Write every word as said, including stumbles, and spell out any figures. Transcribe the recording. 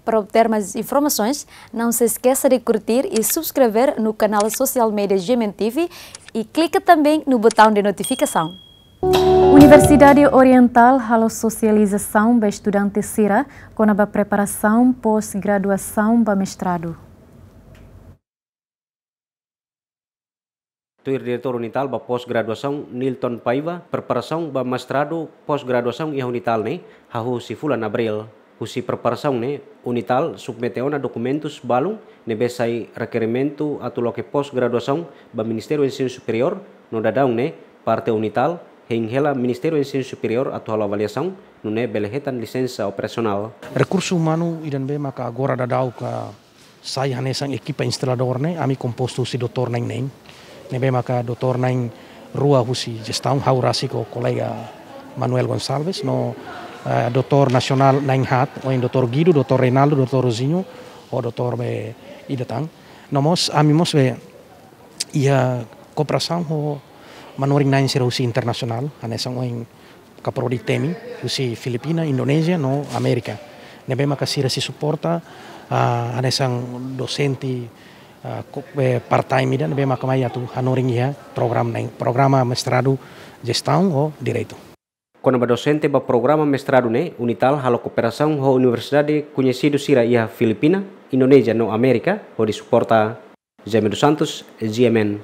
Para obter mais informações, não se esqueça de curtir e subscrever no canal social media G M N T V e clica também no botão de notificação. Universidade Oriental halo sosializasaun ba estudante sira kona-ba preparasaun pós-graduasaun ba mestradu. Tuir Diretór UNITAL ba pós-graduasaun, Nilton Paiva, preparasaun ba mestradu pós-graduasaun iha UNITAL ne'e hahú husi fulan Abríl. Husi preparasaun ne'e, UNITAL submete ona dokumentus balun ne'ebé sai rekerimentu atu loke pós-graduasaun ba Ministériu Ensinu Superiór, no daudaun ne'e parte UNITAL hein hela Ministériu Ensinu Superiór atu halo avaliasaun, nune'e bele hetan lisensa operasionál. Rekursu umanu ida ne'ebé maka agora daudaun ka sai hanesan ekipa instaladór ne'e, ami kompostu husi doutór na'in-neen. Ne'ebé maka doutór na'in-rua husi jestaun, ha'u rasik ho kolega Manuel Gonçalves, no, eh, doutór nasionál na'in-haat, ohin doutór Guido, doutór Reinaldo, doutór Rosinho, ho doutór be ida tan. No mós, ami mós be iha kooperasaun ho manorin-na'in sira husi internasionál, hanesan ohin kaprodi temi, husi Filipina, Indonézia, no Amérika. Ne'ebé maka sira sei suporta, ah, hanesan dosente, ah, ko-, eh, part-time ida, ne'ebé maka mai atu hanorin iha programa na'in, programa mestradu jestaun ho direitu. Kona-ba dosente ba programa mestradu ne'e, UNITAL halo kooperasaun ho universidade koñesidu sira iha Filipina, Indonézia no Amérika, hodi suporta. Jaime dos Santos, G M N.